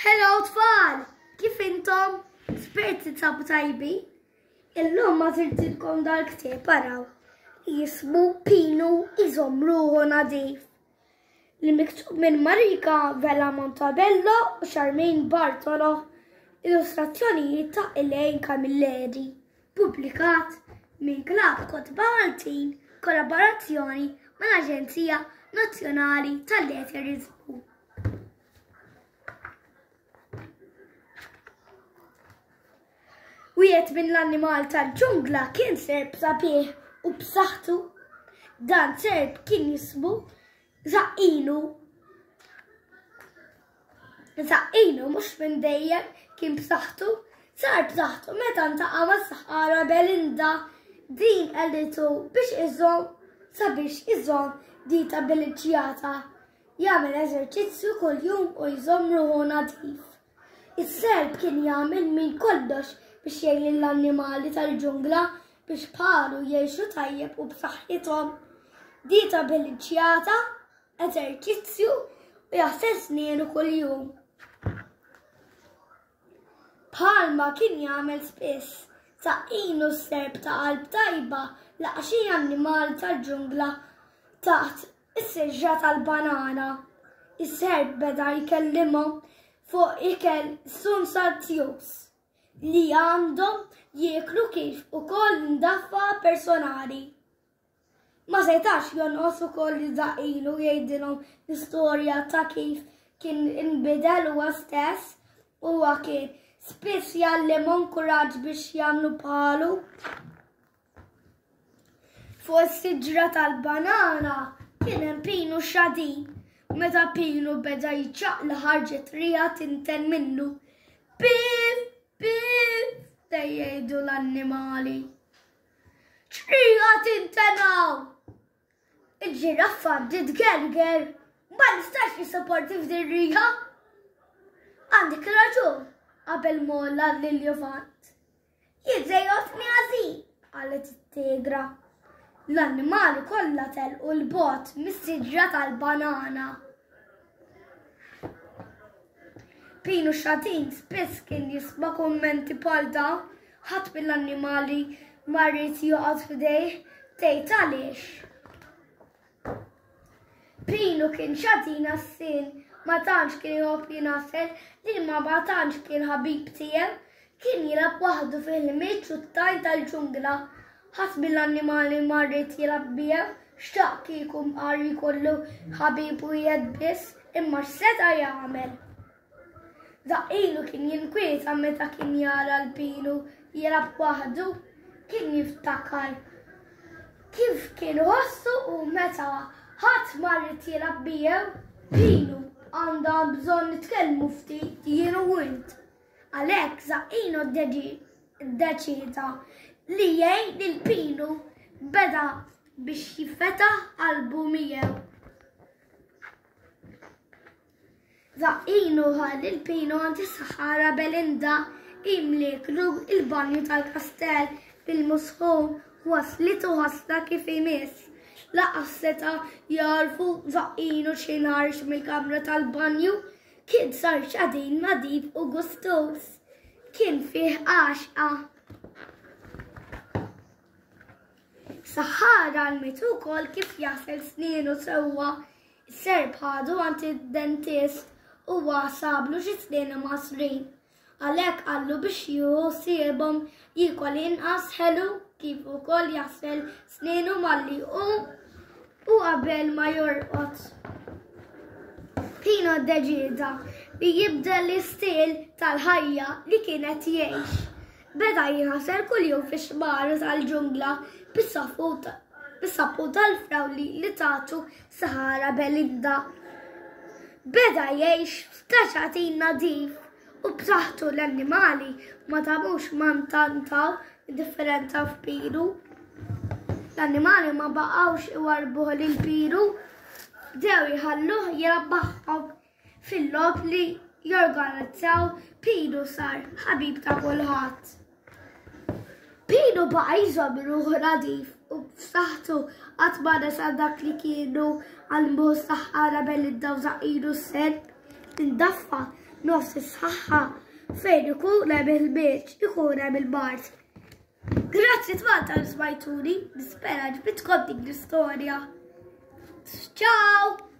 Hello tfal! Kif intom? Spirt titsabu tajbi? Illum ma zirtilkom dal-ktieb araw li jismu Pinu iżomm ruħu nadif. Li miktub minn Marika Vella Montabello u Charmaine Bartolo. Illustrazzjonijiet ta' Elaine Camilleri. Pubblikat minn Klabb Kotba Maltin kollaborazzjoni mal-Aġenzija Nazzjonali tal-Letterizmu. Wieħed minn l-annimal tal-ġungla kien serp sabiħ u b'saħħtu. Dan serp kien jismu Zaqqinu. Zaqqinu mhux minn dejjem kien b'saħħtu, sar b'saħħtu meta ntaqa' mas-saħħara Belinda. Din qalitu biex iżomm sabiex iżomm dita bilinċjata. Jagħmel eżerċizzju kuljum u jżomm ruħu nadif. Is-serp kien jagħmel minn kollox biex jgħin lill-annimali tal-ġungla biex bħalu jgħixu tajjeb u b'saħħithom. Dieta bilanċjata, eżerċizzju u jaħsel snienu kuljum. Bħalma kien jagħmel spiss, Saqqinu s-serp ta' qalb tajba laqa' xi annimali tal-ġungla taħt is-siġra tal-banana. Is-serp beda jkellimhom fuq ikel sunsanzjuż li għandhom jieklu kif ukoll ndaffa personali. Ma setax jonqos ukoll li daqilu jgħidilhom l-istorja ta' kif kien inbidel huwa stess. Huwa kien spiss jgħallimhom kuraġġ biex jagħmlu bħalu. Fuq is-siġra tal-banana kien hemm Pinu xadin. Meta Pinu beda jiċċaqla ħarġet riħa tinten minnu. Pif, pif, jgħidu l-annimali. Ċrija tintenaw! Il-ġiraffa bdiet gerger, ma nistax nissaporti f'din riħa. Għandek raġun, qabel molla l-iljufant. Jiżejjotni ħażin, qalet it-tigra. L-annimali kollha telqu l-bot mis-siġra tal-banana. Pinu Xatin spiss kien jisma' kummenti bħal dawn, ħadd mill-annimali ma ried joqgħod f'idejh, tgħid għaliex. Pinu kien xatin għas-sin, ma tantx kien iħobb jingħasel, li ma ma tantx kien ħabib tiegħu, kien jilgħab waħdu fil-ħmieġ u t-tajn tal-ġungla. Ħadd mill-annimali ma ried jilgħab miegħu, xtaq kieku mqar jkollu ħabib wieħed biss, imma x'seta' jagħmel? Daqqilu kien jinkwieta meta kien jara l-Pinu jilgħab waħdu, kien jiftakar kif kien iħossu u meta ħadd ma ried jilgħab miegħu. Pinu, għandha bżonn nitkellmu ftit jien u int. Għalhekk Zaqqino ddeċieda li jgħin lil Pinu beda biex jiffetaħ qalbu miegħu. Zaqqino ħa lil Pinu għand is-saħħara Belinda imlieklu il-banju tal-kastell bil-musħun waslitu ħasla kif imiss. Laqas seta' jagħrfu Zaqqino xi nħarx mill-kamra tal-banju Kien sar xadin nadif u gustuż. Kien fih għaxqa. Saħħara għalmitu wkoll kif jaħsel snienu sewwa. Is-serp ħadu għand id-dentist u sablu xi snien imgħassrin. Għalhekk qallu biex jieħu ħsiebhom jiekol inqas ħelu kif ukoll jaħsel snienu malli jqum u qabel ma jorqod. Pino ddeċieda li jibdel l-istil tal-ħajja li kien qed jgħix. Beda jinħasel kuljum fix-xmara tal-ġungla bis-sapun tal-frawli li tatu Sahara Belinda. Beda jgħix f'taċatin nadif u b'saħħtu l-annimali ma tamux ma ntantaw differenza f'Piru. L-annimali ma baqgħux iwarbuh lil Piru, bdew jħalluh jilgħab magħhom fil-logħob li jorganizzaw Piru sar ħabib ta' kulħadd. Pinu baqa' jżomm ruħu nadif u b'saħħtu qatt ma nesa dak li kienu għallmuh s-saħħara Belinda u Żaqqinu s-Serp. Indaffa. Nofs is-saħħa fejn ikun hemm il-ħmieġ, ikun hemm il-mard. Grazzi tfal tal smajtuni, nispera ġbitkom din l-istorja. Ciao!